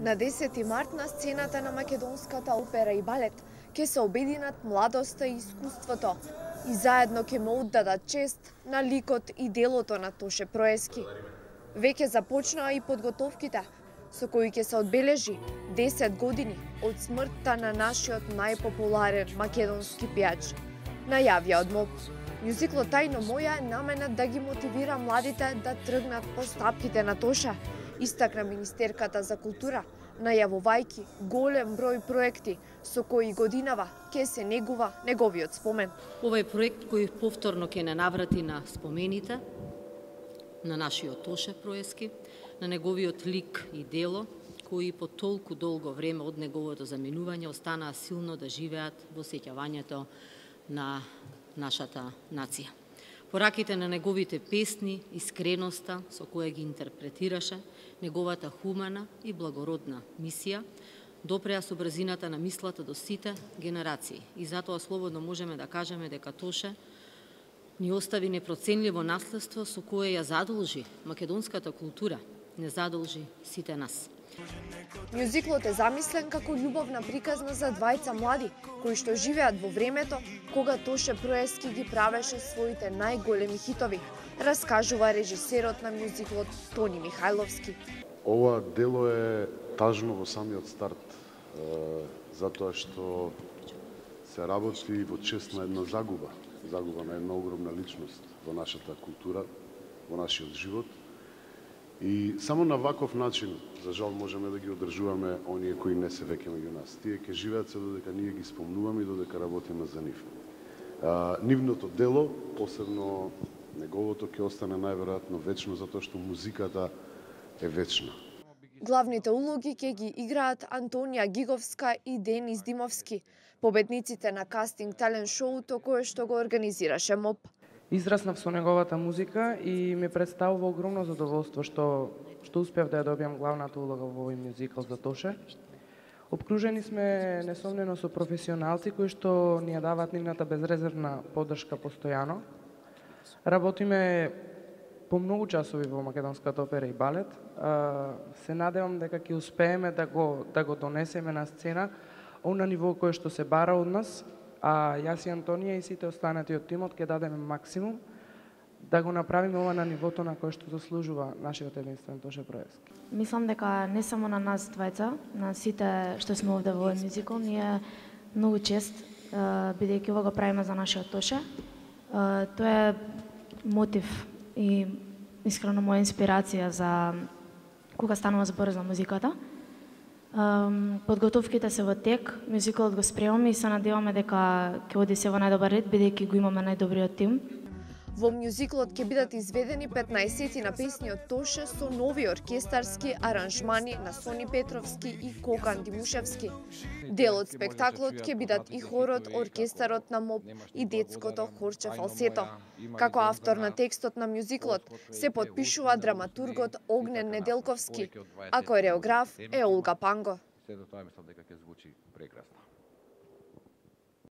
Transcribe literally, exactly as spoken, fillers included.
На десети март на сцената на Македонската опера и балет ќе се обединат младоста и искуството и заедно ќе му оддадат чест на ликот и делото на Тоше Проески. Веќе започнаа и подготовките, со кои ќе се одбележи десет години од смртта на нашиот најпопуларен македонски пејач. Најавија од МОП. Мюзиклот Тајно моја е наменет да ги мотивира младите да тргнат по стапките на Тоша, истакна министерката за култура, најавувајќи голем број проекти со кои годинава ќе се негува неговиот спомен. Овој проект кој повторно ќе не наврати на спомените на нашиот Тоше Проески, на неговиот лик и дело, кои по толку долго време од неговото заминување останаа силно да живеат во сеќавањето на нашата нација. Пораките на неговите песни, искреноста со која ги интерпретираше, неговата хумана и благородна мисија, допреа со брзината на мислата до сите генерации. И затоа слободно можеме да кажеме дека Тоше ни остави непроценливо наследство со кое ја задолжи македонската култура, не задолжи сите нас. Мюзиклот е замислен како љубовна приказна за двајца млади, кои што живеат во времето кога Тоше Проески ги правеше своите најголеми хитови, раскажува режисерот на мюзиклот Тони Михајловски. Ова дело е тажно во самиот старт, затоа што се работи во чест на една загуба, загуба на една огромна личност во нашата култура, во нашиот живот. И само на ваков начин, за жал, можеме да ги одржуваме оние кои не се веќе меѓу нас. Тие ќе живеат се додека ние ги спомнуваме и додека работиме за нив. А, нивното дело, посебно неговото, ќе остане најверојатно вечно, затоа што музиката е вечна. Главните улоги ќе ги играат Антонија Гиговска и Денис Димовски, победниците на кастинг талент шоуто кое што го организираше МОП. Израснав со неговата музика и ми представува огромно задоволство што што успеав да ја добијам главната улога во овој мюзикл за Тоше. Обкружени сме несомнено со професионалци кои што ни ја даваат нивната безрезервна поддршка постојано. Работиме по многу часови во Македонската опера и балет. Се надевам дека ќе успееме да го да го донесеме на сцена на ниво кое што се бара од нас. А јас и Антонија и сите останати од тимот ќе дадеме максимум да го направиме ова на нивото на кое што заслужува нашиот единствен Тоше Проески. Мислам дека не само на нас двајца, на сите што сме овде во овој мюзикл, ни е многу чест, бидејќи ова го правиме за нашиот Тоше. Тоа е мотив и искрено моја инспирација за кога станува збор за музиката. Подготовките се во тек, мюзиклот го спремаме и се надеваме дека ќе оди се во најдобар ред, бидејќи го имаме најдобриот тим. Во мюзиклот ќе бидат изведени петнаесет на песни од Тоше со нови оркестарски аранжмани на Сони Петровски и Кокан Димушевски. Дел од спектаклот ќе бидат и хорот, оркестарот на МОП и детското хорче фалсето. Како автор на текстот на мюзиклот се подпишува драматургот Огнен Неделковски, а кореограф е Олга Панго. Се до тоа мислам дека ќе звучи прекрасно.